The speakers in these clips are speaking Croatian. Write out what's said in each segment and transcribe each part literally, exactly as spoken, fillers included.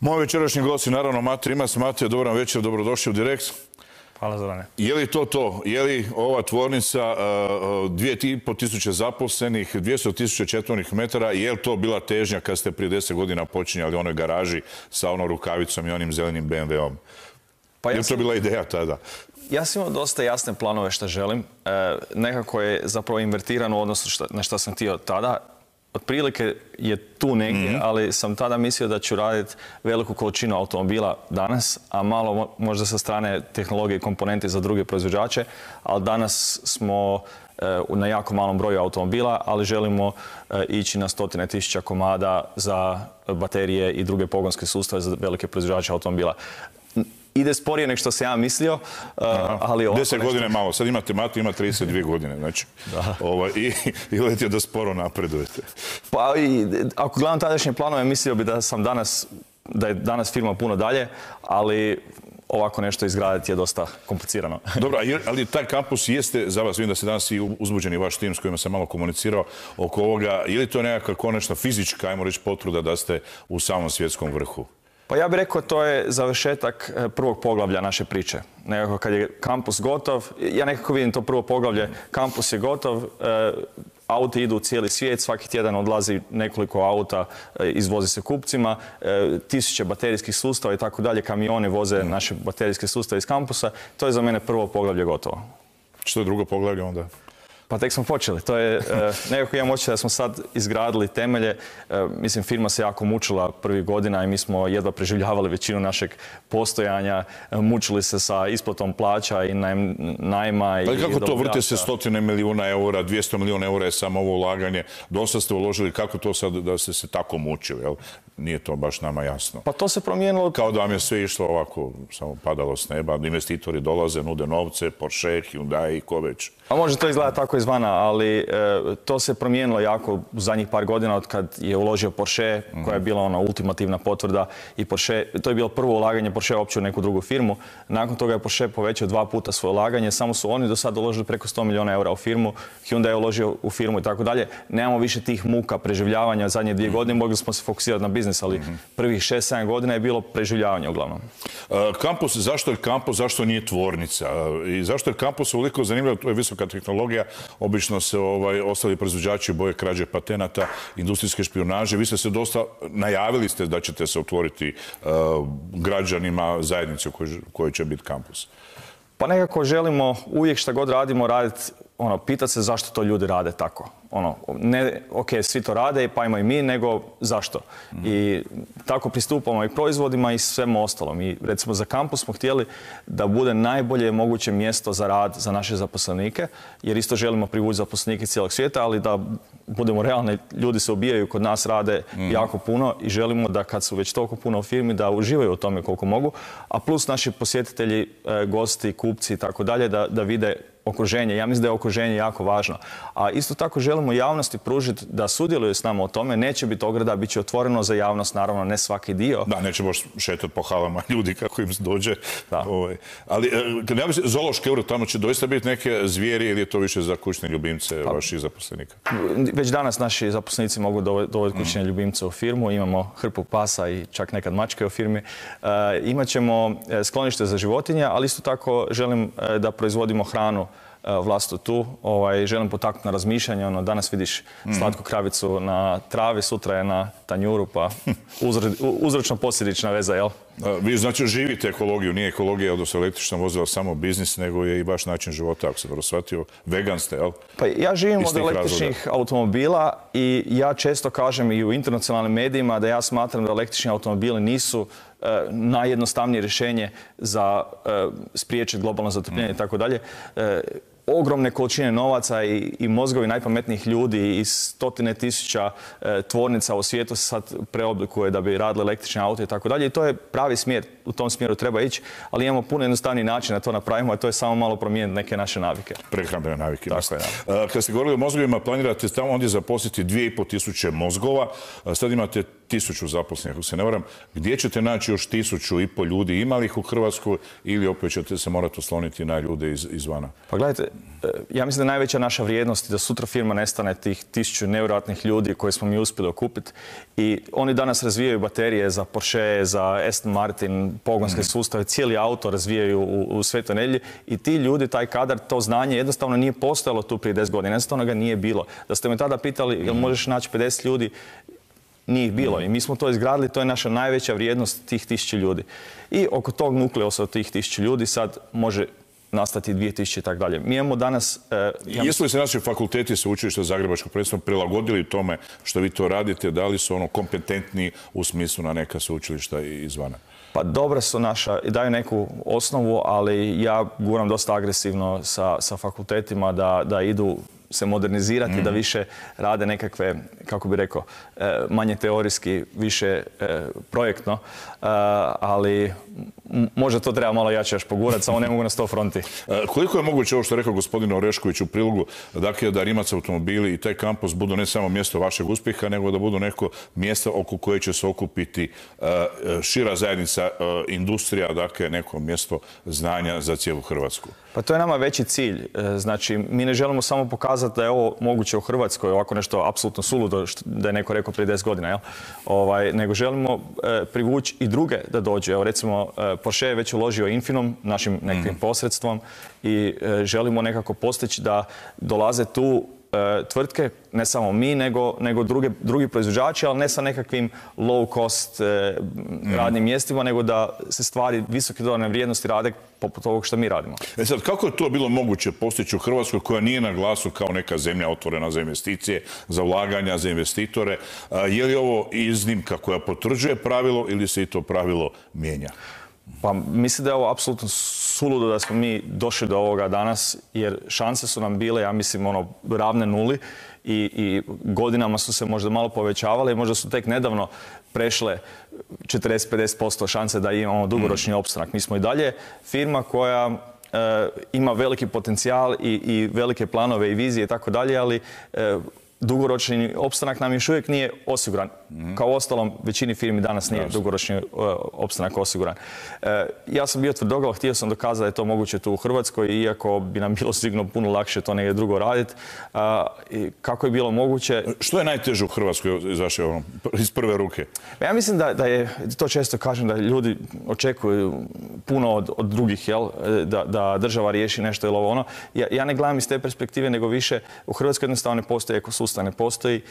Moj večerašnji gost je naravno Mate Rimac. Mate, dobar vam večer, dobrodošli u Direkt. Hvala Zorane. Je li to to? Je li ova tvornica dvije i pol tisuće zaposlenih, dvjesto tisuća četvornih metara, je li to bila težnja kad ste prije deset godina počinjali u onoj garaži sa onom rukavicom i onim zelenim be em veom? Pa ja je li to bila ideja tada? Ja sam imao dosta jasne planove što želim. E, nekako je zapravo invertirano u odnosu šta, na što sam htio tada. Otprilike je tu negdje, mm-hmm. ali sam tada mislio da ću raditi veliku količinu automobila danas, a malo možda sa strane tehnologije i komponente za druge proizvođače, ali danas smo e, na jako malom broju automobila, ali želimo e, ići na stotine tisuća komada za baterije i druge pogonske sustave za velike proizvođače automobila. Ide sporije nego što sam ja mislio, uh, ali ovako Deset godine je malo. Sad imate Mate, ima trideset dvije godine, znači. Ovaj, I i letite da sporo napredujete. Pa i, ako gledam tadašnje planove, mislio bi da sam danas, da je danas firma puno dalje, ali ovako nešto izgraditi je dosta komplicirano. Dobro, ali taj kampus jeste za vas, vidim da se danas i uzbuđeni vaš tim s kojima sam malo komunicirao oko ovoga, je li to nekakva konačna fizička, ajmo reći, potvrda da ste u samom svjetskom vrhu? Pa ja bih rekao to je završetak prvog poglavlja naše priče. Nekako kad je kampus gotov, ja nekako vidim to prvo poglavlje, kampus je gotov, e, auti idu u cijeli svijet, svaki tjedan odlazi nekoliko auta, e, izvozi se kupcima, e, tisuće baterijskih sustava i tako dalje, kamione voze naše baterijske sustave iz kampusa. To je za mene prvo poglavlje gotovo. Što je drugo poglavlje onda? Pa tek smo počeli. To je, e, nekako imam osjećaj da smo sad izgradili temelje. E, mislim, firma se jako mučila prvih godina i mi smo jedva preživljavali većinu našeg postojanja. E, mučili se sa isplatom plaća i najm, najma. Ali kako to vrte se stotine milijuna eura, dvjesto milijuna eura je samo ovo ulaganje. Dosta ste uložili, kako to sad da ste se tako mučili, jel? Nije to baš nama jasno. Pa to se promijenilo. Kao da vam je sve išlo ovako, samo padalo s neba. Investitori dolaze, nude novce, Porsche, Hyundai, ko već. A može to izgleda tako izvana, ali e, to se promijenilo jako u zadnjih par godina od kad je uložio Porsche, mm-hmm. koja je bila ona ultimativna potvrda i Porsche, to je bilo prvo ulaganje Porsche uopće u neku drugu firmu. Nakon toga je Porsche povećao dva puta svoje ulaganje, samo su oni do sada uložili preko sto milijuna eura u firmu, Hyundai je uložio u firmu i tako dalje. Nemamo više tih muka preživljavanja zadnje dvije mm-hmm. godine, mogli smo se fokusirati na biznis, ali mm-hmm. prvih šest sedam godina je bilo preživljavanje uglavnom. Uh, kampus, zašto je kampus, zašto nije tvornica? Uh, I zašto je kampus uliko zanimljivo, to je visoka tehnologija, obično se ovaj, ostali proizvođači boje krađe patenata, industrijske špijunaže. Vi ste se dosta najavili ste da ćete se otvoriti uh, građanima zajednice u kojoj, kojoj će biti kampus. Pa nekako želimo uvijek šta god radimo raditi, ono, pitati se zašto to ljudi rade tako. Ono, ne, ok, svi to rade, pa imamo i mi, nego zašto. Mm. I tako pristupamo i proizvodima i svemu ostalom. I recimo za kampus smo htjeli da bude najbolje moguće mjesto za rad za naše zaposlenike, jer isto želimo privući zaposlenike cijelog svijeta, ali da budemo realni, ljudi se ubijaju, kod nas rade mm. jako puno i želimo da kad su već toliko puno u firmi, da uživaju u tome koliko mogu, a plus naši posjetitelji, gosti, kupci i tako dalje, da, da vide okruženje. Ja mislim da je okruženje jako važno. A isto tako želimo javnosti pružiti da sudjeluju s nama o tome. Neće biti ograda, bit će otvoreno za javnost, naravno ne svaki dio. Da, neće baš šetati po halama ljudi kako im dođe. Ovaj. Ali kad ja mislim, zoološki euro, tamo će doista biti neke zvijeri ili je to više za kućne ljubimce pa, vaših zaposlenika? Već danas naši zaposlenici mogu dovoditi kućne mm. ljubimce u firmu. Imamo hrpu pasa i čak nekad mačke u firmi. E, imat ćemo sklonište za životinje, ali isto tako želim da proizvodimo hranu vlastu tu. Ovaj, želim potaknuti na razmišljanje. Ono, danas vidiš slatku kravicu na travi, sutra je na tanjuru, pa uzročno-posljedična veza, jel? Vi znači živite ekologiju, nije ekologija, odnosno električna vozila samo biznis, nego je i vaš način života, ako se dobro shvatio. Vegan ste, jel? Pa ja živim od električnih razloga. automobila i ja često kažem i u internacionalnim medijima da ja smatram da električni automobili nisu e, najjednostavnije rješenje za e, spriječiti globalno zatopljenje i tako dalje. Ogromne količine novaca i, i mozgovi najpametnijih ljudi i stotine tisuća e, tvornica u svijetu se sad preoblikuje da bi radili električne auto i tako dalje. I to je pravi smjer, u tom smjeru treba ići, ali imamo puno jednostavniji način da to napravimo, a to je samo malo promijeniti neke naše navike. Prehrambene navike. Tako je, da. Kad ste govorili o mozgovima, planirate tamo ondje zaposliti dvije i pol tisuće mozgova. Sad imate tisuću zaposlenih, ako se ne varam. Gdje ćete naći još tisuću i pol ljudi? Ima li ih u Hrvatskoj ili opet ćete se morati osloniti na ljude iz, izvana? Pa gledajte, ja mislim da je najveća naša vrijednost da sutra firma nestane tih tisuću nevjerojatnih ljudi koje smo mi uspjeli okupiti. I oni danas razvijaju baterije za Porsche, za Aston Martin, pogonske mm. sustave, cijeli auto razvijaju u, u Svetoj Nedjelji i ti ljudi, taj kadar, to znanje jednostavno nije postojalo tu prije deset godina. Jednostavno ga nije bilo. Da ste me tada pitali jel možeš naći pedeset ljudi, nije ih bilo. I mi smo to izgradili, to je naša najveća vrijednost tih tisuću ljudi. I oko tog nukleusa od tih tisuću ljudi sad može nastati dvije tisuće i tako dalje. Mi imamo danas... Uh, ja Jesu li se naši fakulteti sveučilišta Zagrebačkog predstavnog prilagodili tome što vi to radite? Da li su ono kompetentni u smislu na neka sveučilišta izvana? Pa dobra su naša, daju neku osnovu, ali ja guram dosta agresivno sa, sa fakultetima da, da idu se modernizirati, mm. da više rade nekakve, kako bi rekao, manje teorijski, više projektno, ali možda to treba malo jače još pogurati, samo ne mogu na sto fronti. Koliko je moguće ovo što je rekao gospodin Orešković u prilogu, dakle da Rimac automobili i taj kampus budu ne samo mjesto vašeg uspjeha, nego da budu neko mjesto oko koje će se okupiti šira zajednica, industrija, dakle neko mjesto znanja za cijelu Hrvatsku? Pa to je nama veći cilj. Znači, mi ne želimo samo pokazati da je ovo moguće u Hrvatskoj, ovako nešto apsolutno suludo, da je neko rekao prije deset godina, jel? Ovaj, nego želimo e, privući i druge da dođu. Evo, recimo, e, Porsche je već uložio Infinom, našim nekim mm. posredstvom, i e, želimo nekako postići da dolaze tu tvrtke, ne samo mi, nego, nego druge, drugi proizvođači, ali ne sa nekakvim low cost eh, radnim mm. mjestima, nego da se stvari visoke dodane vrijednosti rade poput ovog što mi radimo. E sad, kako je to bilo moguće postići u Hrvatskoj koja nije na glasu kao neka zemlja otvorena za investicije, za ulaganja, za investitore? A, je li ovo iznimka koja potvrđuje pravilo ili se i to pravilo mijenja? Pa mislim da je ovo apsolutno suludo da smo mi došli do ovoga danas, jer šanse su nam bile, ja mislim, ono, ravne nuli i, i godinama su se možda malo povećavale i možda su tek nedavno prešle četrdeset do pedeset posto šanse da imamo dugoročni opstanak. Mi smo i dalje firma koja e, ima veliki potencijal i, i velike planove i vizije i tako dalje, ali e, dugoročni opstanak nam još uvijek nije osiguran. Mm-hmm. Kao ostalom, većini firmi danas nije Jasne. dugoročni uh, opstanak osiguran. Uh, ja sam bio tvrdoglav, htio sam dokazati da je to moguće tu u Hrvatskoj, iako bi nam bilo sigurno puno lakše to negdje drugo raditi. Uh, i kako je bilo moguće... Što je najteže u Hrvatskoj iz vaše, ono, iz prve ruke? Ja mislim da, da je, to često kažem, da ljudi očekuju puno od, od drugih, jel? Da, da država riješi nešto ili ovo ono. Ja, ja ne gledam iz te perspektive, nego više u Hrvatskoj jednostavno ne postoji ekosustav, ne postoji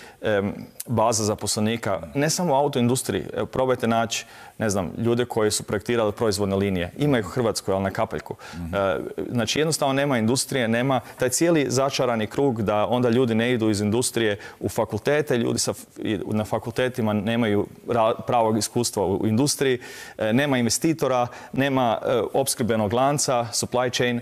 um, baza zaposlenika, ne samo u autoindustriji. Evo, probajte naći, ne znam, ljude koji su projektirali proizvodne linije. Ima ih u Hrvatskoj, ali na kapaljku. Mm-hmm. E, znači, jednostavno nema industrije, nema taj cijeli začarani krug da onda ljudi ne idu iz industrije u fakultete, ljudi sa, na fakultetima nemaju ra, pravog iskustva u industriji, e, nema investitora, nema e, opskrbenog lanca, supply chain.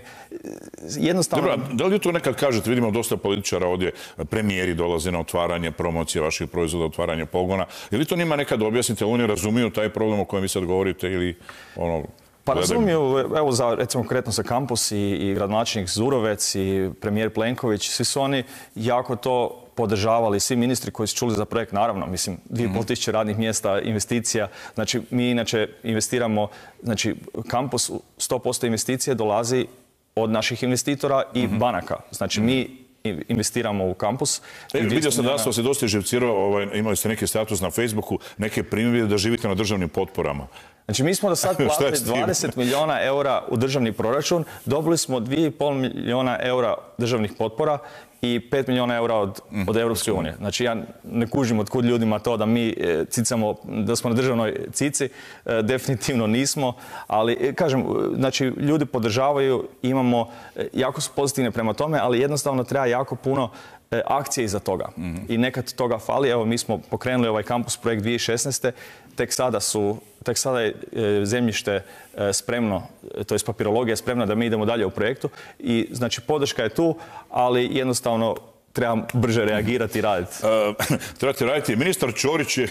Jednostavno... Dobro, da li to nekad kažete, vidimo dosta političara ovdje, premijeri dolaze na otvaranje, promocije vaših proizvoda, otvaranje pogona. Je li to njima nekad objasnite, ali oni razumiju taj problem o kojem vi sad govorite ili ono... Pa razumiju, evo za, recimo konkretno za kampus i, i gradonačelnik Zurovec i premijer Plenković, svi su oni jako to podržavali, svi ministri koji su čuli za projekt, naravno, mislim, dvije i pol tisuće radnih mjesta, investicija. Znači, mi inače investiramo, znači, kampus, sto posto investicije dolazi od naših investitora i mm-hmm. banaka. Znači, mi investiramo u kampus. E, vidio sam da vas je dosta živcirao, ovaj, imali ste neki status na Facebooku, neke primjere da živite na državnim potporama. Znači, mi smo do sad platili dvadeset milijuna eura u državni proračun, dobili smo dva i pol milijuna eura državnih potpora i pet milijuna eura od, mm. od Europske unije. Znači, ja ne kužim od kud ljudima to da mi e, cicamo, da smo na državnoj cici, e, definitivno nismo, ali, e, kažem, znači, ljudi podržavaju, imamo, e, jako su pozitivne prema tome, ali jednostavno treba jako puno e, akcije iza toga. Mm-hmm. I nekad toga fali. Evo, mi smo pokrenuli ovaj kampus projekt dvije tisuće šesnaeste. Tek sada su Tek sada je e, zemljište e, spremno, to je papirologija spremna da mi idemo dalje u projektu i znači podrška je tu, ali jednostavno treba brže reagirati i raditi. Uh, trebate raditi. Ministar Ćorić je,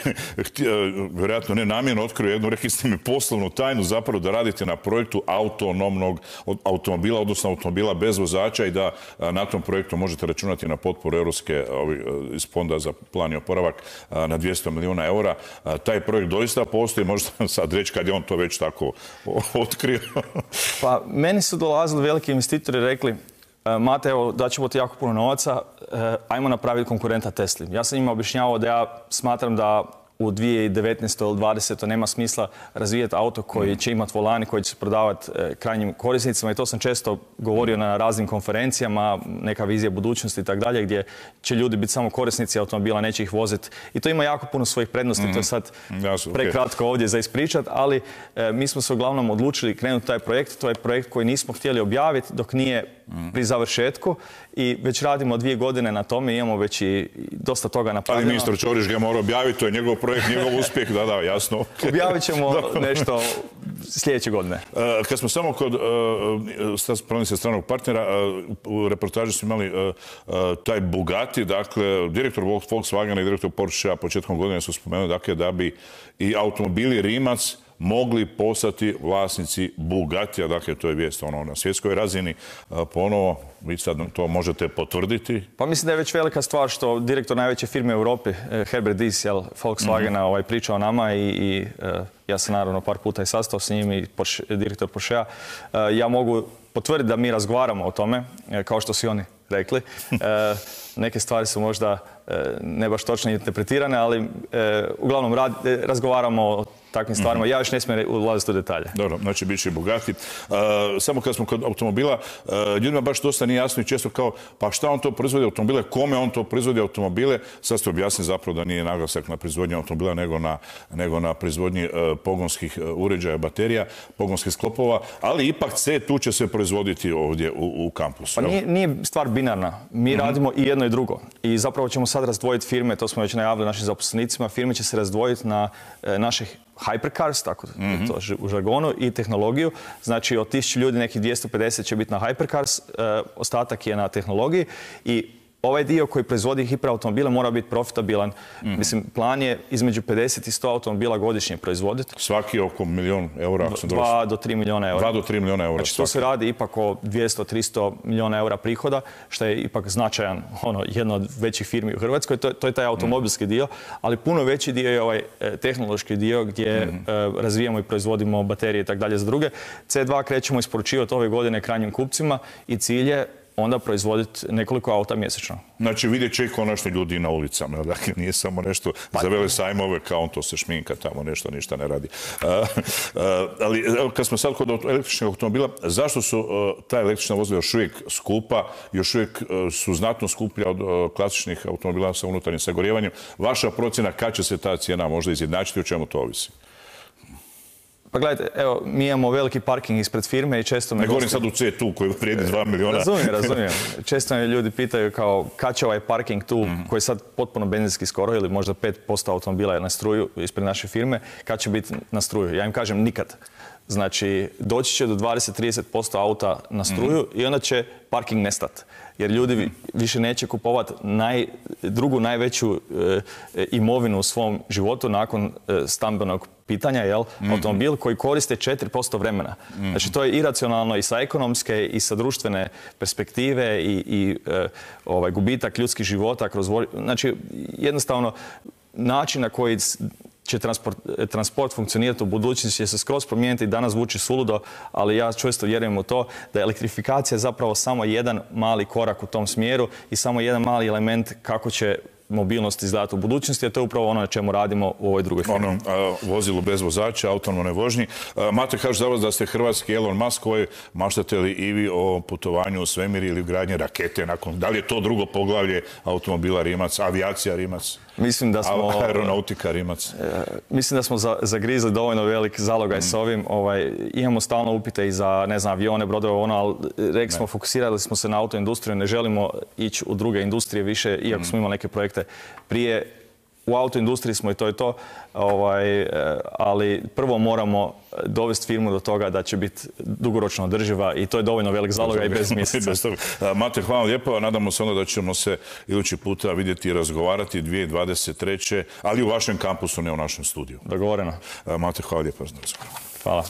vjerojatno ne namjerno, otkrio jednu, rekli ste mi, poslovnu tajnu zapravo da radite na projektu autonomnog automobila, odnosno automobila bez vozača i da na tom projektu možete računati na potporu Europske iz Fonda za plan i oporavak na dvjesto milijuna eura. Taj projekt doista postoji, možete sad reći kad je on to već tako otkrio. Pa, meni su dolazili veliki investitori i rekli, Mate, evo, daćemo ti jako puno novaca, ajmo napraviti konkurenta Tesli. Ja sam njima objašnjavao da ja smatram da u dvije tisuće devetnaestoj ili dvadesetoj nema smisla razvijati auto koji će imati volan i koji će se prodavati krajnjim korisnicima i to sam često govorio na raznim konferencijama, neka vizija budućnosti i tako dalje, gdje će ljudi biti samo korisnici automobila, neće ih voziti. I to ima jako puno svojih prednosti, mm-hmm. to je sad Jasno, prekratko okay. ovdje za ispričat, ali e, mi smo se uglavnom odlučili krenuti taj projekt. To je projekt koji nismo htjeli objaviti dok nije mm. pri završetku i već radimo dvije godine na tome, imamo već i dosta toga napravljeno. Ali ministar Ćorić ga mora objaviti, to je njegov projekt, njegov uspjeh, da, da, jasno. Objavit ćemo nešto sljedeće godine. Uh, kad smo samo kod uh, se stranog partnera, uh, u reportaži smo imali uh, uh, taj Bugatti, dakle, direktor Volkswagena i direktor Porschea početkom godine su spomenuli dakle, da bi i automobili Rimac mogli postati vlasnici Bugattija, dakle to je vijest ono, na svjetskoj razini. Ponovo, vi sad to možete potvrditi? Pa mislim da je već velika stvar što direktor najveće firme u Europi, Herbert Diess, Volkswagena, mm-hmm. ovaj, priča o nama i, i uh, ja sam naravno par puta i sastao s njim i Porsche, direktor Porschea. Uh, ja mogu potvrditi da mi razgovaramo o tome, kao što su oni rekli. Uh, neke stvari su možda uh, ne baš točno interpretirane, ali uh, uglavnom rad, razgovaramo o takvim stvarima. Ja još ne smijem ulaziti u detalje. Dobro, znači bit će Bugatti. Uh, samo kad smo kod automobila, uh, ljudima baš dosta nije jasno i često kao, pa šta on to proizvodi automobile, kome on to proizvodi automobile. Sad ste objasnili zapravo da nije naglasak na proizvodnji automobila, nego na, nego na proizvodnji uh, pogonskih uh, uređaja, baterija, pogonskih sklopova, ali ipak C tu će se proizvoditi ovdje u, u kampusu. Pa nije, nije stvar binarna. Mi mm-hmm. radimo i jedno i drugo. I zapravo ćemo sad razdvojiti firme, to smo već najavili našim zaposlenicima, firme će se razdvojiti na uh, naših hypercars, tako mm-hmm. to u žargonu, i tehnologiju. Znači, od tisuću ljudi nekih dvjesto pedeset će biti na hypercars, e, ostatak je na tehnologiji i ovaj dio koji proizvodi hiperautomobile mora biti profitabilan. Mm-hmm. Mislim, plan je između pedeset i sto automobila godišnje proizvoditi. Svaki oko milijon eura. Dva do tri milijuna eura. Dva do tri milijuna eura. Znači, to se radi ipak o dvjesto do tristo milijuna eura prihoda, što je ipak značajan, ono, jedna od većih firmi u Hrvatskoj. To, to je taj automobilski mm-hmm. dio, ali puno veći dio je ovaj e, tehnološki dio gdje mm-hmm. e, razvijamo i proizvodimo baterije i tako dalje za druge. C dva krećemo isporučivati ove godine krajnjim kupcima i cilj je onda proizvoditi nekoliko auta mjesečno. Znači vidjet će i konačno ljudi na ulicama, dakle nije samo nešto pa, za vele sajmove kao on to se šminka tamo nešto, ništa ne radi. Uh, uh, ali kad smo sad kod električnih automobila, zašto su uh, ta električna vozila još uvijek skupa, još uvijek uh, su znatno skuplja od uh, klasičnih automobila sa unutarnjim sagorijevanjem? Vaša procjena kad će se ta cijena možda izjednačiti, o čemu to ovisi? Pa gledajte, evo, mi imamo veliki parking ispred firme i često me... Ne govorim sad u C tu koji vrijedi dva milijuna. Razumijem, razumijem. Često me ljudi pitaju kao kad će ovaj parking tu, mm-hmm. koji je sad potpuno benzinski skoro, ili možda pet posto automobila je na struju ispred naše firme, kad će biti na struju? Ja im kažem nikad. Znači, doći će do dvadeset do trideset posto auta na struju mm-hmm. i onda će parking nestati. Jer ljudi više neće kupovati naj, drugu najveću e, imovinu u svom životu nakon e, stambenog pitanja, jel? Mm-hmm. Automobil koji koriste četiri posto vremena. Mm-hmm. Znači, to je iracionalno i sa ekonomske i sa društvene perspektive i, i e, ovaj, gubitak ljudskih života kroz... Znači, jednostavno, način na koji će transport, transport funkcionirati u budućnosti će se skroz promijeniti i danas zvuči suludo, ali ja često vjerujem u to da je elektrifikacija zapravo samo jedan mali korak u tom smjeru i samo jedan mali element kako će mobilnost izgledati u budućnosti, a to je upravo ono na čemu radimo u ovoj drugoj firmi. Ono, a, vozilu bez vozača, autonomnoj vožnji. A, Mate, kaže za vas da ste hrvatski Elon Musk, koji maštate li i vi o putovanju u svemir ili gradnje rakete nakon... Da li je to drugo poglavlje automobila Rimac, avijacija Rimac? Mislim da smo... Aeronautika Rimac? E, mislim da smo za, zagrizli dovoljno velik zalogaj mm. s ovim. Ovaj, imamo stalno upite i za, ne znam, avione, brodove, ono, ali rekli smo, fokusirali smo se na autoindustriju, ne želimo ići u druge industrije više, iako mm. smo imali neke projekte prije. u autoindustriji smo i to je to, ovaj, ali prvo moramo dovesti firmu do toga da će biti dugoročno održiva i to je dovoljno velik zaloga i bez mjeseca. Mate, hvala lijepo. Nadamo se onda da ćemo se idući puta vidjeti i razgovarati dvije tisuće dvadeset treće ali u vašem kampusu, ne u našem studiju. Dogovoreno. Mate, hvala lijepo. Hvala.